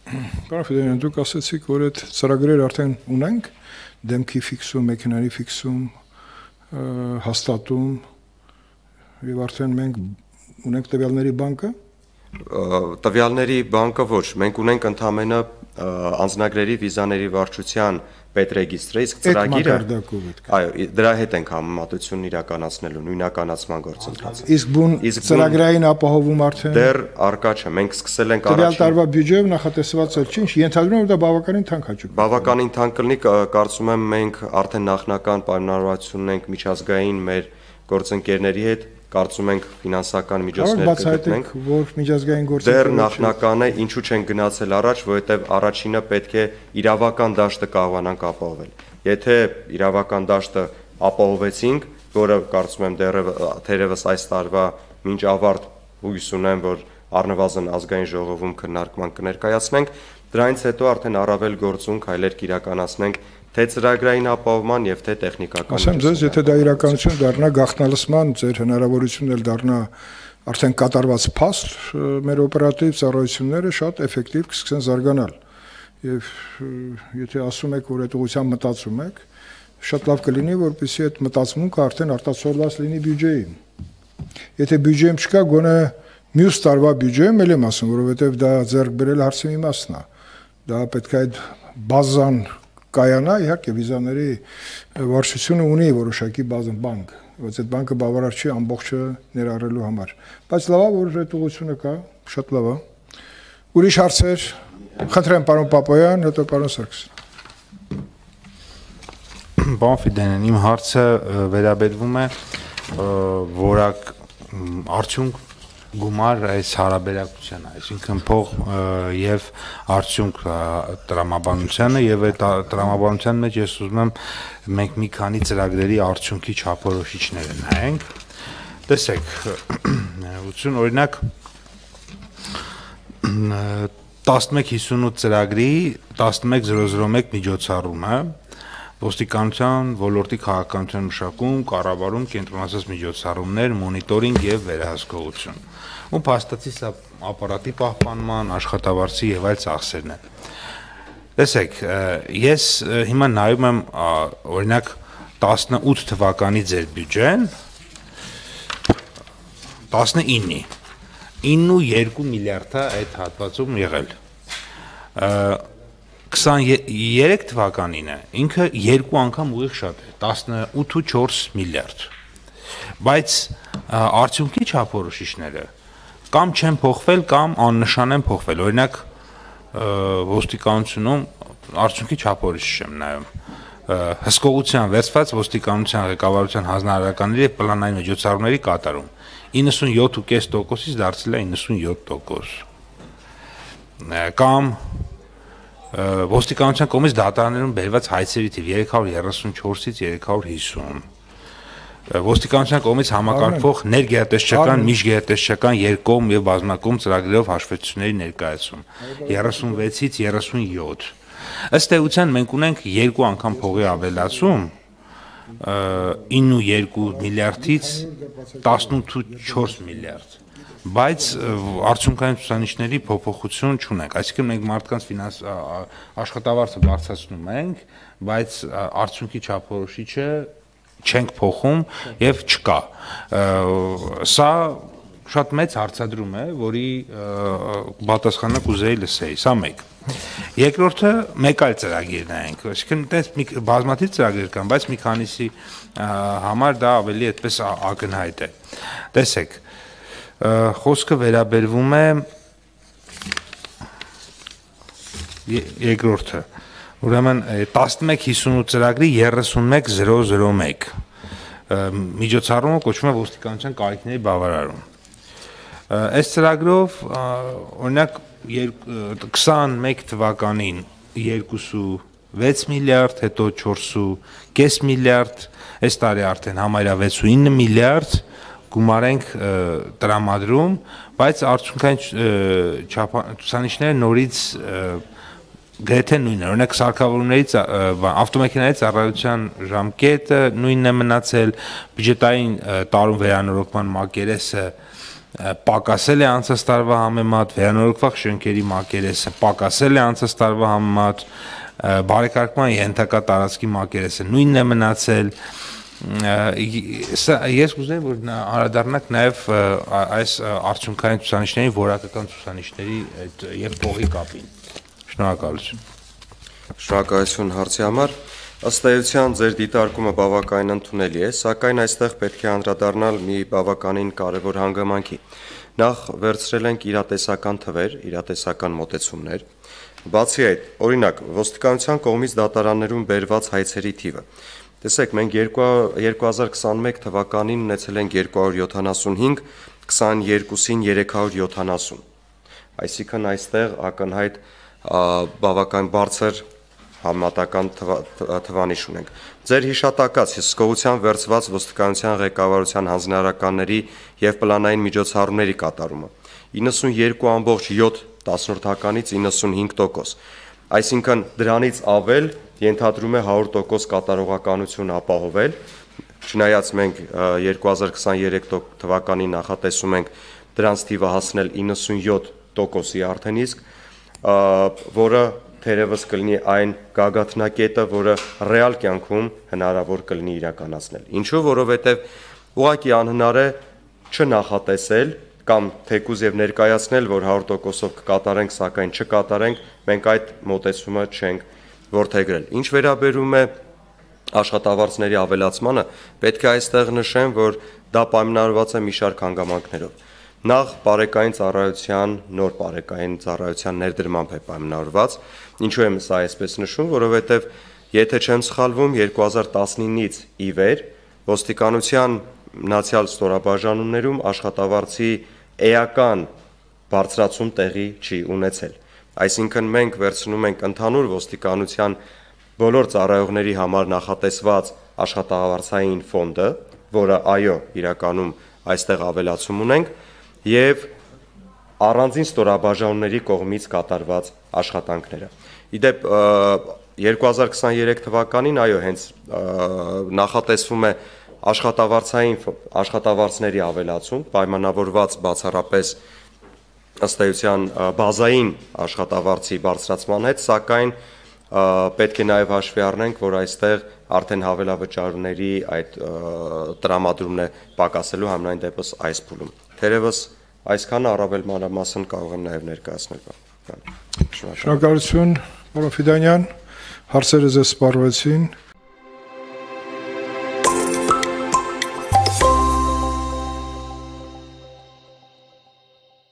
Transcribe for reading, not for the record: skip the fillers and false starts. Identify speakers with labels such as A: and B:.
A: Պարոն Ֆիդոյան, դուք ասացիք, որ այդ ծրագրերը արդեն ունենք, դեմքի ֆիքսում, մեքենայի ֆիքսում, հաստատում, եւ արդեն մենք ունենք տվյալների բանկը։
B: Տվյալների բանկը ոչ, մենք ունենք ընդամենը անձնագրերի վիզաների վարչության պետրեգիստրը, իսկ ծրագիրը այո, դրա հետ ենք համեմատությունն իրականացնելու նույնականացման գործընթացը։
A: Իսկ բուն ծրագրային ապահովում արդեն
B: դեռ առկա չէ, մենք սկսել ենք
A: առաջին տարվա բյուջեով նախատեսված էլ չի, ենթադրում եմ դա բավականին թանկ հաճույք։
B: Բավականին թանկ կլինի, կարծում եմ մենք արդեն նախնական պայմանավորվածություն ունենք միջազգային մեր գործընկերների հետ, կարծում ենք ֆինանսական միջոցներ կգտնենք,
A: որ միջազգային գործընկերները
B: դեռ նախնական է, ինչու չեն գնացել առաջ, որովհետև առաջինը պետք է իրավական դաշտը կարողանանք ապահովել։ Եթե իրավական դաշտը ապահովեցինք, որը կարծում եմ թերևս այս տարվա մինչ ավարտ հույս ունեմ, որ առնվազն ազգային ժողովում քննարկման կներկայացնենք, դրանից հետո արդեն առավել գործուն քայլեր կիրականացնենք թե ծրագրային ապահովման եւ թե տեխնիկական։
A: Ասեմ ձեզ, եթե դա իրականություն դառնա, գաղտնալսման ձեր հնարավորությունն էլ դառնա արդեն կատարված փաստ, մեր օպերատիվ ծառայությունները շատ էֆեկտիվ կսկսեն զարգանալ։ Եվ եթե ասում եք, որ այդ ուղղությամբ մտածում եք, շատ լավ կլինի, որպեսզի այդ մտածմունքը արդեն արտացոլված լինի բյուջեին։ Եթե բյուջեում չկա, գոնե մյուս տարվա բյուջեում էլ եմ ասում, որովհետև դա ձեռք բերել հարցի մի մասն է։ Դա պետք է այդ բազան կայանա, իհարկե վիզաների վարչությունը ունի որոշակի բազան բանկ, բայց այդ բանկը բավարար չի ամբողջը ներառելու համար։ Բայց լավ է, որ այդ ուղղությունը կա, շատ լավ է։ Ուրիշ հարցեր, խնդրեմ պարոն Պապոյան, հետո պարոն Սարգսյան։
C: Պարոն Ֆիդոյան, իմ հարցը վերաբերվում է որակ արդյունք գումար այս հարաբերակցությանը, այսինքն փող եւ արդյունք տրամաբանությանը եւ այդ տրամաբանության մեջ ես ուզում եմ մենք մի քանի ծրագրերի արդյունքի չափորոշիչները նայենք։ Տեսեք, օրինակ 1158 ծրագրի 11001 միջոցառումը ոստիկանության ոլորտի քաղաքականության մշակում, կառավարում, կենտրոնացած միջոցառումներ, մոնիտորինգ եւ վերահսկողություն։ Ու փաստացի սա ապարատի պահպանման, աշխատավարձի եւ այլ ծախսերն են։ Տեսեք, ես հիմա նայում եմ օրինակ 18 թվականի ձեր բյուջեն 19-ի 9.2 միլիարդ է այդ հատվածում եղել։ 23 թվականին է, ինքը երկու անգամ ուղիղ շատ է, 18.4 միլիարդ, բայց արդյունքի չափորոշիչները կամ չեն փոխվել, կամ աննշան են փոխվել, օրինակ ոստիկանությունում արդյունքի չափորոշիչ եմ նայում, հսկողության վերցված ոստիկանության ղեկավարության հանձնարարականների և պլանային միջոցառումների կատարում, 97.5%-ից դարձել է 97%, կամ ոստիկանության կողմից դատարաններում բերված հայցերի թիվ 334-ից 350, ոստիկանության կողմից համակարգվող ներգերատեսչական, միջգերատեսչական երկկողմ եւ բազմակողմ ծրագրերով հաշվետվությունների ներկայացում 36-ից 37։ Ըստ էության մենք ունենք երկու անգամ փողի ավելացում 9.2 միլիարդից 18.4 միլիարդ, բայց արդյունքային ցուցանիշների փոփոխություն չունենք, այսինքն մենք մարդկանց աշխատավարձը բարձրացնում ենք, բայց արդյունքի չափորոշիչը չենք փոխում եւ չկա։ Սա շատ մեծ հարցադրում է, որի պատասխանը կուզեի լսեի, սա մեկ։ Երկրորդը մեկ այլ ծրագիր նայենք, այսինքն այդպես բազմաթիվ ծրագրեր կան, բայց մի քանիսի համար դա ավելի այդպես ակնհայտ է։ Տեսեք, խոսքը վերաբերվում է երկրորդը, ուրեմն 1158 ծրագրի 31001 միջոցառումը կոչվում է ոստիկանության կարիքների բավարարում։ Այս ծրագրով օրինակ 21 թվականին 2.6 միլիարդ, հետո 4.5 միլիարդ, այս տարի արդեն համարյա 6.9 միլիարդ գումար ենք տրամադրում, բայց արդյունքային ցուցանիշները նորից գրեթե նույնն է, օրինակ սարքավորումների ավտոմեքենայի ծառայության ժամկետը նույնն է մնացել, բյուջետային տարում վերանորոգման մակերեսը պակասել է անցած տարվա համեմատ, վերանորոգվող շենքերի մակերեսը պակասել է անցած տարվա համեմատ, բարեկարգման ենթակա տարածքի մակերեսը նույնն է մնացել։ Ես կուզեի, որ անդրադառնանք նաև այս արդյունքային ցուցանիշների, որակական ցուցանիշների եւ փողի կապին։ Շնորհակալություն։
B: Շնորհակալություն հարցի համար։ Ըստ էության ձեր դիտարկումը բավականին ընդունելի է, սակայն այստեղ պետք է անդրադառնալ մի բավականին կարևոր հանգամանքի։ Նախ վերցրել ենք իրատեսական թվեր, իրատեսական մոտեցումներ։ Բացի այդ, օրինակ, ոստիկանության կողմից դատարաններում բերված հայցերի թիվը։ Տեսեք, մենք 2021 թվականին ունեցել ենք 275, 22-ին 370։ Այսինքն այստեղ ակնհայտ բավական բարձր համատական թվանիշ ունենք։ Ձեր հիշատակած հսկողության վերցված ոստիկանության ղեկավարության հանձնարարականների եւ պլանային միջոցառումների կատարումը 92.7%-ից 95%, այսինքն դրանից ավել ենթադրում է 100% կատարողականություն ապահովել, չնայած մենք 2023 թվականի նախատեսում ենք դրանց թիվը հասնել 97%-ի արդեն իսկ, որը թերևս կլինի այն գագաթնակետը, որը ռեալ կյանքում հնարավոր կլինի իրականացնել։ Ինչու, որովհետև ուղղակի անհնար է չնախատեսել կամ թեկուզ եւ ներկայացնել, որ 100%-ով կկատարենք, սակայն չկատարենք, մենք այդ մոտեցումը չենք որդեգրել։ Ինչ վերաբերում է աշխատավարձների ավելացմանը, պետք է այստեղ նշեմ, որ դա պայմանավորված է մի շարք հանգամանքներով։ Նախ բարեկային ծառայության, նոր բարեկային ծառայության ներդրմամբ է պայմանավորված։ Ինչու եմ սա այսպես նշում, որովհետև եթե չեմ սխալվում, 2019-ից ի վեր ոստիկանության մնացյալ ստորաբաժանումներում աշխատավարձի էական բարձրացում տեղի չի ունեցել։ Այսինքն մենք վերցնում ենք ընդհանուր ոստիկանության բոլոր ծառայողների համար նախատեսված աշխատավարձային ֆոնդը, որը այո, իրականում այստեղ ավելացում ունենք, եւ առանձին ստորաբաժանումների կողմից կատարված աշխատանքները։ Իդեպ 2023 թվականին այո, հենց նախատեսվում է աշխատավարձների ավելացում, պայմանավորված բացառապես ըստ էության բազային աշխատավարձի բարձրացման հետ, սակայն պետք է նաև հաշվի առնենք, որ այստեղ արդեն հավելավճարների այդ տրամադրումն է պակասելու համենայն դեպս այս փուլում։ Թերևս այսքանը առավել մանրամասն կարող եմ նաև ներկայացնել։
A: Շնորհակալություն, պարոն Ֆիդանյան, հարցերը ձեզ սպառվեցին։